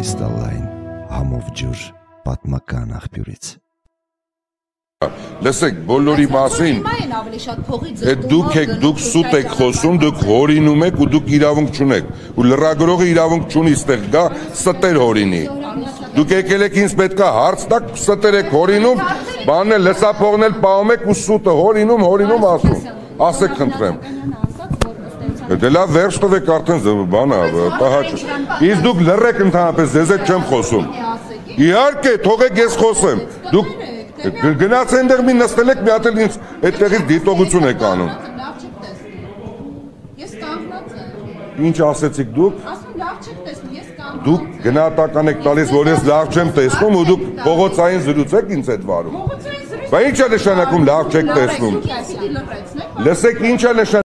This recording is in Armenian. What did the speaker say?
կրիստալային համով ջուր պատմական աղբյուրից։ Լսեք, բոլորի մասին, դուք սուտ եք խոսում, դուք հորինում եք ու դուք իրավունք չունեք, ու լրագրողը իրավունք չունի ստեղ գա ստեր հորինի։ Դուք եկել եք ինձ պետքա հարց տաք, ստեր եք հորինում, բանն էլ լսափողն էլ պահում եք ու սուտը հորինում ասում, ասեք խնդրեմ։ Դե լավ վերջ տվեք արդեն բանա, տահաճ։ Իսկ դուք լռեք ընդհանրապես, ձեզ հետ չեմ խոսում։ Իհարկե, թողեք ես խոսեմ։ Դուք գնաց այնտեղ մի նստել եք, մի հատ էլ ինձ այդտեղից դիտողություն եք անում։ Ես կանգնած եմ։ Ինչ ասեցիք դուք։ Ասում լավ չեք տեսնում, ես կանգնած եմ։ Դուք գնահատական եք տալիս, որ ես լավ չեմ տեսնում ու դուք փողոցային զրուցեք ինձ հետ վարում։ Բա ի՞նչ է նշանակում լավ չեք տեսնում։ Լսեք, ի՞նչ է նշանակում։